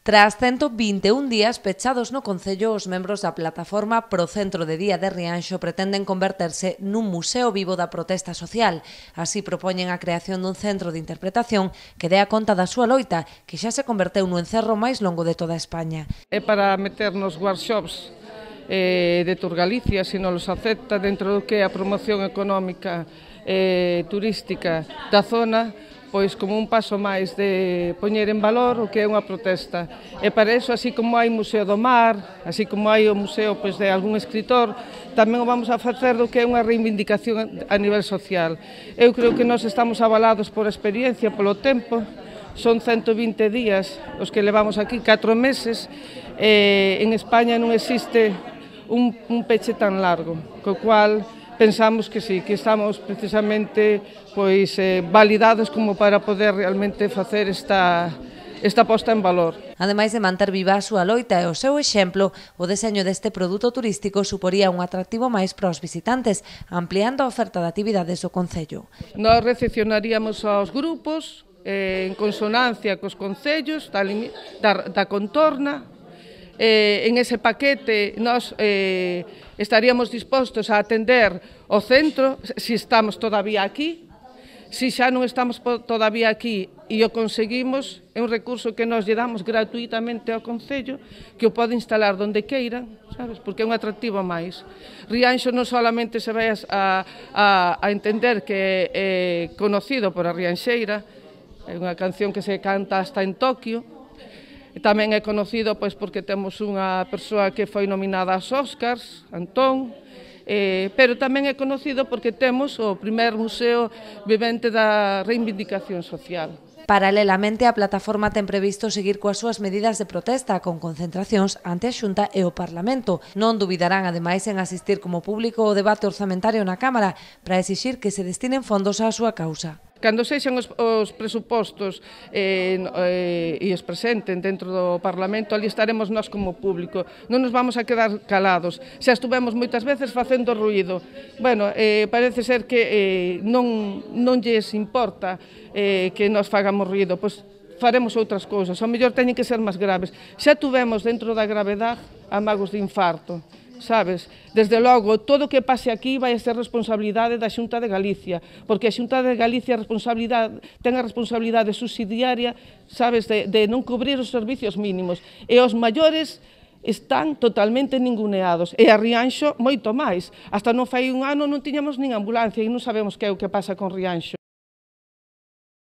Tras 121 días pechados no Concello, os membros da plataforma Pro Centro de Día de Rianxo pretenden converterse nun museo vivo da protesta social. Así propoñen a creación dun centro de interpretación que dea conta da súa loita, que xa se converteu no encerro máis longo de toda España. É para meter nos workshops de Tour Galicia, se non los acepta dentro do que é a promoción económica turística da zona, pois como un paso máis de poñer en valor o que é unha protesta. E para iso, así como hai Museo do Mar, así como hai o museo pois, de algún escritor, tamén o vamos a facer do que é unha reivindicación a nivel social. Eu creo que nós estamos avalados por experiencia, polo tempo, son 120 días os que levamos aquí, 4 meses, en España non existe un peche tan largo, co cual pensamos que sí, que estamos precisamente pois validados como para poder realmente facer esta posta en valor. Ademais de manter viva a súa loita e o seu exemplo, o deseño deste produto turístico suporía un atractivo máis para os visitantes, ampliando a oferta de actividades do Concello. Nós recepcionaríamos aos grupos en consonancia cos concellos da contorna. En ese paquete nós estaríamos dispostos a atender o centro, se estamos todavía aquí. Se xa non estamos todavía aquí e o conseguimos, é un recurso que nós lle damos gratuitamente ao Concello, que o pode instalar donde queira, sabes? Porque é un atractivo máis. Rianxo non solamente se vai a entender que é conocido por a Rianxeira, é unha canción que se canta hasta en Tokio. Tamén é conocido pois, porque temos unha persoa que foi nominada aos Óscars, Antón, pero tamén é conocido porque temos o primer museo vivente da reivindicación social. Paralelamente, a plataforma ten previsto seguir coas súas medidas de protesta con concentracións ante a Xunta e o Parlamento. Non dubidarán, ademais, en asistir como público ao debate orzamentario na Cámara para exixir que se destinen fondos á súa causa. Cando sexan os presupostos e os presenten dentro do Parlamento, ali estaremos nós como público. Non nos vamos a quedar calados. Xa estuvemos moitas veces facendo ruído. Bueno, parece ser que non lles importa que nos fagamos ruído, pois faremos outras cousas. Ao mellor teñen que ser máis graves. Xa tuvemos dentro da gravedade amagos de infarto. Sabes? Desde logo, todo o que pase aquí vai a ser responsabilidade da Xunta de Galicia, porque a Xunta de Galicia ten a responsabilidade subsidiaria, sabes, de non cubrir os servicios mínimos, e os maiores están totalmente ninguneados, e a Rianxo moito máis. Hasta non fai un ano non tiñamos nin ambulancia e non sabemos que é o que pasa con Rianxo.